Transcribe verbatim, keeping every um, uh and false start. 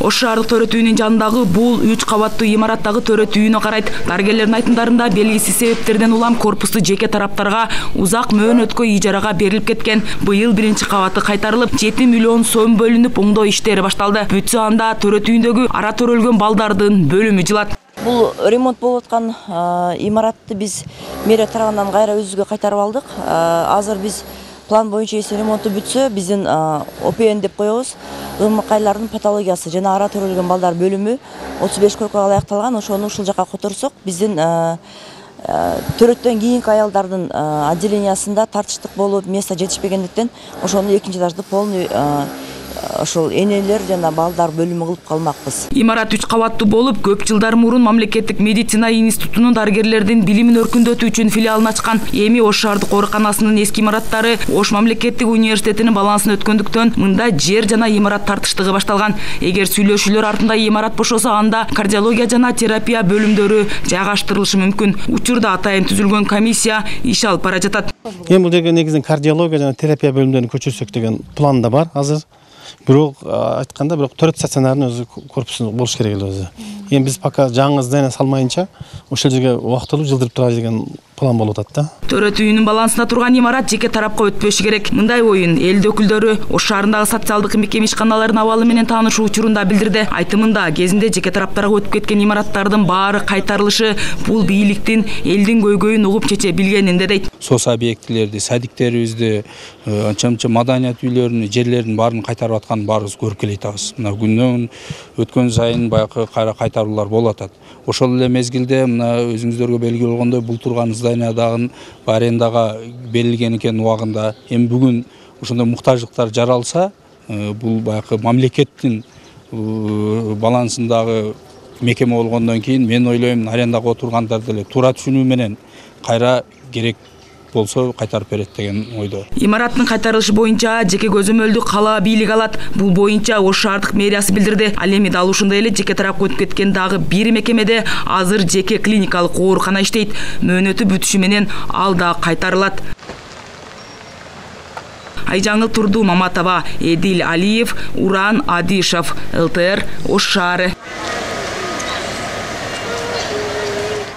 Ош шаардык төрөт үйүнүн жанындагы бул үч кабаттуу имараттагы төрөт үйүнө карайт. Дарыгерлердин айтымдарында белгисиз себептерден улам корпусту жеке тараптарга узак мөөнөткө ижарага берилип кеткен. Быйыл биринчи кабаты кайтарылып, жети миллион сом бөлүнүп, оңдоо иштери башталды. Бүтсө анда төрөт үйүндөгү ара төрөлгөн балдардын бөлүмү жылат. Бул ремонт болуп аткан имаратты биз мэрия тарабынан кайра өзүбүзгө кайтарып алдык. Азыр биз план боюнча эси ремонту бүтсө, биздин О П Н деп коебуз. Ымыкайлардын патологиясы жана ара төрөлгөн балдар бөлүмү отуз беш койкага аякталган. Ошону ушул жака которсок, биздин төрөттөн кийинки аялдардын отделениясында тартыштык болуп, место жетишпегендиктен ошону экинчи этажды полный ошол энелер жана балдар бөлүмү кылып калмакпыз. Имарат үч кабаттуу болуп, көп жылдар мурун мамлекеттик медицина институтунун дарыгерлердин билимин өркүндөтүү үчүн филиалын ачкан. Эми Ош шаардык ооруканасынын эски имараттары Ош мамлекеттик университетинин балансын өткөндүктөн мында жер жана имарат тартыштыгы башталган. Эгер сүйлөшүүлөр артында имарат бошосо, анда кардиология жана терапия бөлүмдөрү жайгаштырылышы мүмкүн. Учурда атайын түзүлгөн комиссия иш алып бара жатат. Эми бул жерге негизинен кардиология жана терапия бөлүмдөрүн көчүрсөк деген план да бар азыр. Бирок айтканда бирок төрөт стационардын өзү корпусу болуш керек эле өзү. Эми биз пока жаңы здание салмайынча ошол жерге убактылуу жылдырып туралы деген план болуп атат да. Төрөт үйүнүн балансында турган имарат жеке тарапка өтпөшү керек. Мындай оюн эл өкүлдөрү Ош шаарындагы социалдык мекеме ишканаларынын абалы менен таанышуу учурунда билдирди. Айтымында кезинде жеке тараптарга өтүп кеткен имараттардын баары кайтарылышы бул бийликтин элдин көйгөйүн угуп чече билгенинде дейт. Сос объектилерди, садиктерибизди, анча-мынча маданият үйлөрүнүн жерлерин баарын кайтарып атканын баарыбыз көрүп келатабыз. Мына күндөн өткөн сайын баягы кайра кайтаруулар болуп атат. Ошол эле мезгилде мына өзүңүздөргө белгилүү болгондой бул турган зданиядагы арендага берилген экен убагында. Эми бүгүн ошондой муктаждыктар жаралса, бул баягы мамлекеттин балансындагы мекеме болгондон кийин мен ойлойм, арендага отургандар деле туура түшүнүү менен кайра керек болсо кайтарып берет деген ойдо. Имараттын кайтарылышы боюнча жеке көзөмөлдү кала бийлиги алат. Бул боюнча Ош шаардык мэриясы билдирди. Ал эми дал ушундай эле жеке тарапка өтүп кеткен дагы бир мекемеде азыр жеке клиникалык оорукана иштейт. Мөөнөтү бүтүшү менен ал да кайтарылат. Айжаңыл Турду Маматова, Эдил Алиев, Уран Адишев, Л Т Р, Ош шаары.